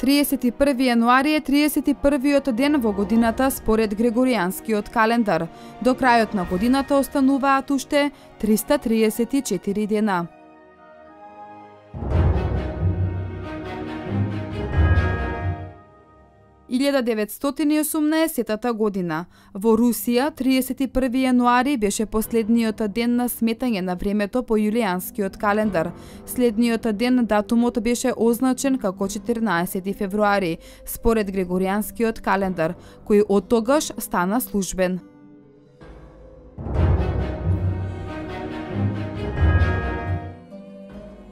31 јануари е 31-виот ден во годината според Грегоријанскиот календар. До крајот на годината остануваат уште 334 дена. Илјада 918 година. Во Русија 31 јануари беше последниот ден на сметање на времето по јулијанскиот календар. Следниот ден датумот беше означен како 14 февруари, според Грегоријанскиот календар, кој од тогаш стана службен.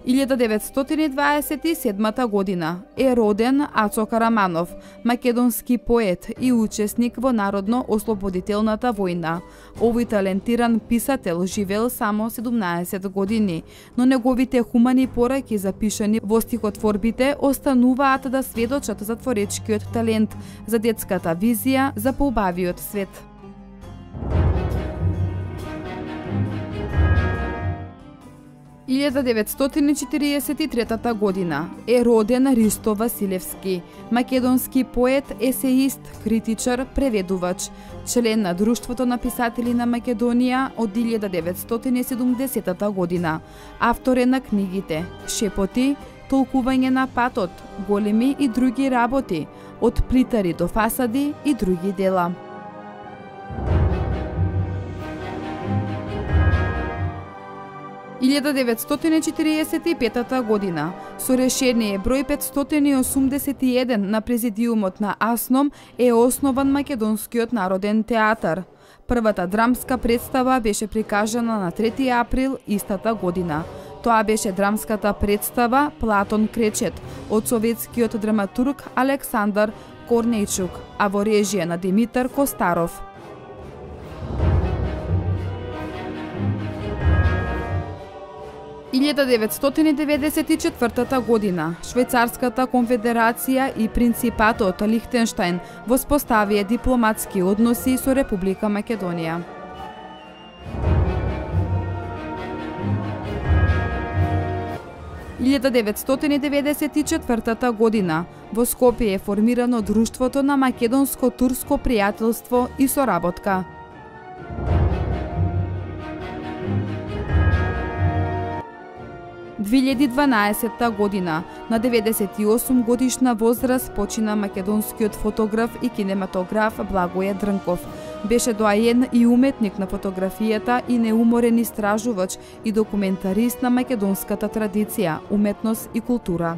Илјада 927 година е роден Ацо Караманов, македонски поет и учесник во Народно-ослободителната војна. Овој талентиран писател живеел само 17 години, но неговите хумани пораки запишани во стихотворбите остануваат да сведочат за творечкиот талент, за детската визија, за поубавиот свет. Илјада 943 година е роден Ристо Василевски, македонски поет, есеист, критичар, преведувач, член на Друштвото на писатели на Македонија од 1970 година. Автор е на книгите Шепоти, Толкување на патот, Големи и други работи, Од плитари до фасади и други дела. Илјада 945 година, со решение број 581 на Президиумот на АСНОМ е основан Македонскиот народен театар. Првата драмска представа беше прикажана на 3 април истата година. Тоа беше драмската представа Платон Кречет од советскиот драматург Александар Корнејчук, а во режија на Димитар Костаров. Илјада 994 година, Швајцарската конфедерација и принципатот Лихтенштајн воспоставија дипломатски односи со Република Македонија. Илјада 994 година, во Скопје е формирано Друштвото на македонско-турско пријателство и соработка. – 2012 година, на 98 годишна возраст почина македонскиот фотограф и кинематограф Благоје Дрнков. Беше доаен и уметник на фотографијата и неуморен истражувач и документарист на македонската традиција, уметност и култура.